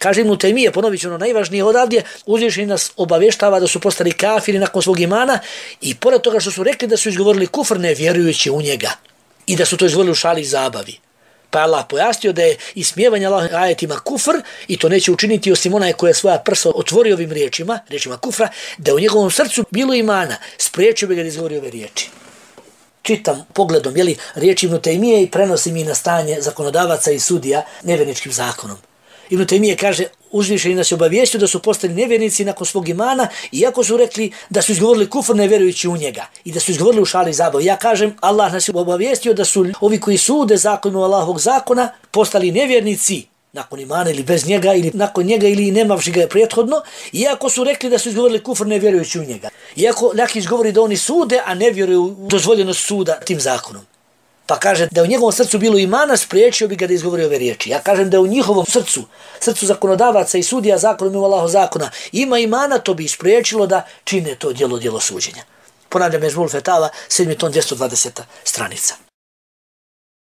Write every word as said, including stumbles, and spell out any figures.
Kaže Ibn Taymije, ponovit ću ono najvažnije odavdje, uzvišeni nas obavještava da su postali kafiri nakon svog imana i pored toga što su rekli da su izgovorili kufr ne vjerujući u njega i da su to izgovorili u šali i zabavi. Pa je Allah pojasnio da je ismijevanje Allahovim ajetima kufr i to neće učiniti osim onaj koji je svoja prsa otvorio ovim riječima, riječima kufra, da je u njegovom srcu bilo imana, spriječio bi ga da izgovori ove riječi. Čitam pogledom, jeli, riječi Ibn Taymije i prenosim ih na stanje zakonodavaca i sudija nevjerničkim zakonom. Ibn Taymije kaže, uzvišeni nas je obavijestio da su postali nevjernici nakon svog imana, iako su rekli da su izgovorili kufr ne vjerujući u njega i da su izgovorili u šali i zabavi. Ja kažem, Allah nas je obavijestio da su ovi koji sude zakonu Allahovog zakona postali nevjernici nakon imana ili bez njega ili nakon njega ili nemavši ga je prethodno, iako su rekli da su izgovorili kufr ne vjerujući u njega. Iako Lakić govori da oni sude, a ne vjeruju u dozvoljenost suda tim zakonom. Pa kaže da u njegovom srcu bilo imana, spriječio bi ga da izgovori ove riječi. Ja kažem da u njihovom srcu, srcu zakonodavaca i sudija zakonom i Allahov zakona, ima imana, to bi spriječilo da čine to djelo, djelo suđenja. Ponavljam, Mezmul Fetava, sedmi ton, dvjesto dvadeseta stranica.